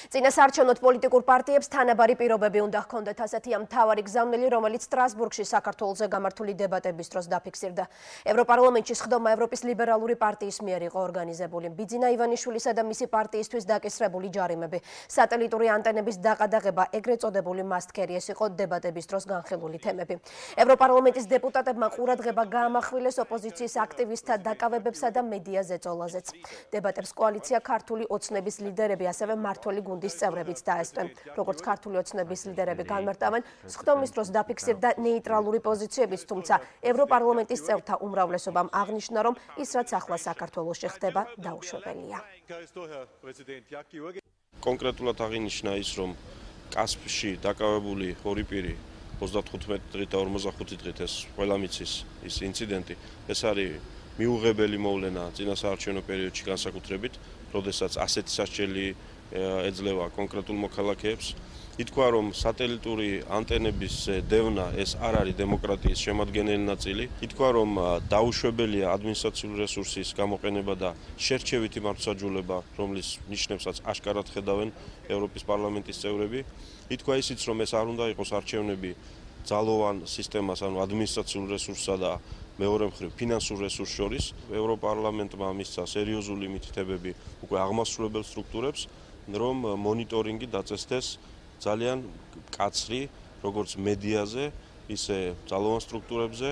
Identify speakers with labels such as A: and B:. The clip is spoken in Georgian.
A: წინასაარჩევნოდ პოლიტიკურ პარტიებს თანაბარი პირობები უნდა ჰქონდეთ, ასეთია მთავარი გზავნილი, რომელიც სტრასბურგში საქართველოზე გამართული დებატების დროს დაფიქსირდა. ევროპარლამენტში სხდომა ევროპის ლიბერალური პარტიის მიერ იყო ორგანიზებული. ბიძინა ივანიშვილისა და მისი პარტიისთვის დაკისრებული ჯარიმები, სატელიტური ანტენების დაყადაღება, ეგრეთ წოდებული მასტკერი, ეს იყო დებატების დროს განხილული თემები. ევროპარლამენტის დეპუტატებმა ყურადღება გაამახვილეს ოპოზიციის აქტივისტთა დაკავებებსა და მედია ზეწოლაზეც. დებატებს კოალიცია ქართული ოცნების ლიდერები, ასევე მმართველი გუნდის წევრებიც დაესწრნენ. როგორც ქართული ოცნების ლიდერები განმარტავენ, სხდომის დროს დაფიქსირდა ნეიტრალური პოზიციებიც, თუმცა ევროპარლამენტის წევრთა უმრავლესობამ აღნიშნა, რომ ის რაც ახლა საქართველოში ხდება, დაუშვებელია.
B: კონკრეტულად აღინიშნა ის, რომ კასპში დაკავებული ორი პირი 35 დღით და 45 დღით ეს ყველა მიცის ის ინციდენტი, ეს არის მიუღებელი მოვლენა წინასაარჩევნო პერიოდში განსაკუთრებით, როდესაც ასეთი სასჯელი ეძლევა კონკრეტულ მოქალაქეებს. ითქვა, რომ სატელიტური ანტენების დევნა ეს არ არის დემოკრატიის შემადგენელი ნაწილი. ითქვა, რომ დაუშვებელია ადმინისტრაციული რესურსის გამოყენება და შერჩევითი მართლმსაჯულება, რომლის ნიშნებსაც აშკარად ხედავენ ევროპის პარლამენტის წევრები. ითქვა ისიც, რომ ეს არ უნდა იყოს არჩევნები ძალოვან სისტემას, ანუ ადმინისტრაციულ რესურსსა და მეორე მხრივ ფინანსურ რესურს შორის. ევროპარლამენტმა მისცა სერიოზული მითითებები უკვე აღმასრულებელ სტრუქტურებს, რომ მონიტორინგი დაწესდეს ძალიან მკაცრი, როგორც მედიაზე, ისე ძალოვან სტრუქტურებზე.